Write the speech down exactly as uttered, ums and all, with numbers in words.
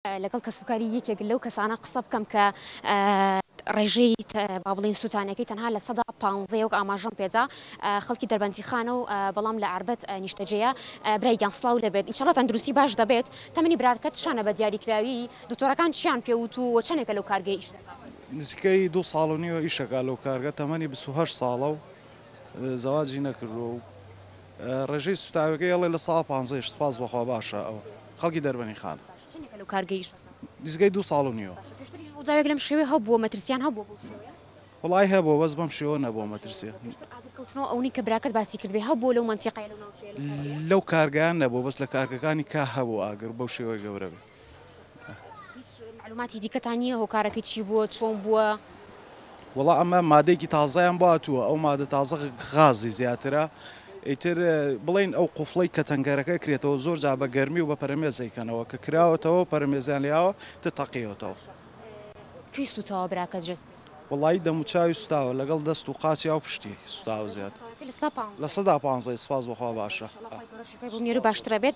لەگەڵ کەسوکاری یەکێک لەو کەسانە قسە بکەم کە ڕێژەی با بڵێین سووتانەکەی تەنها لە سەدا پانزەیە وەک ئاماژەم پێدا خەڵکی دەربەندیخانە و بەڵام لە عەربەت نیشتەجێیە. برای گیان سڵاو لەبێت، ئینشەڵا تەندروستی باش دەبێت. تەمەنی براکەت چەنە بە دیاریکراوی؟ دکتۆرەکان چیان پێوت و چەندێکە لەو کارگەی ئیش دەکات؟ نزیکەی دوو ساڵ و نیوە ئیشەکە لەو کارگە، تەمەنی بیست و هەشت ساڵە و زەواجی نەکردووە و ڕێژەی سوتاوەکەی ئەڵێ لە ساڵ پانزەیش. سپاس بەخوا باشە. ئەو خەڵکی دەربەندیخانە. چەندێکە لەو کارگەی ئیش دەکات؟ نزیکەی دوو ساڵ و نیوە. پێشتریش ڕووداوێک لەم شێوەیە هەبووە، مەترسیان هەبووە بەو شێوەیە؟ وەڵای هەبووە، بەس بەم شێوە نەبووە مەترسیە. پێشتر ئاگرکەوتنەوە ئەونەی کە براکەت باسی کردبێ هەبووە لەو مەنتیقەیە لەو ناوچەیە لەو کارگەیە؟ لەو کارگەیان نەبووە، بەس لە کارگەکانی کا هەبوو ئاگر بەو شێوەی گەورە بێ. هیچ معلوماتی دیکەتان نییە هۆکارەکەی چی بووە، چۆن بووە؟ وەڵا ئەمە مادەیەکی تازەیان بۆ هاتووە، ئەو مادە تازە غازی زیاترە. ئیتر بڵین ئەو قوفڵەی کە تەنگەرەکە کرێتەوە زۆر جا بە گەرمی و بە پەرەمێزەیکەنەوە کە کراوەتەوە پەرەمێزیان لیاوە تە تەقیەوەتەوە. کوێی سوتاوە براکەت جەستەی؟ وەڵایی دەموچاوی سوتاوە لەگەڵ دەست و قاچی و پشتی سوتاوە زیاد. لە سەدا لە سەدا پانزەی. سپاس بەخوا باشە. شیفای بۆ بنێرە باشترە بێت.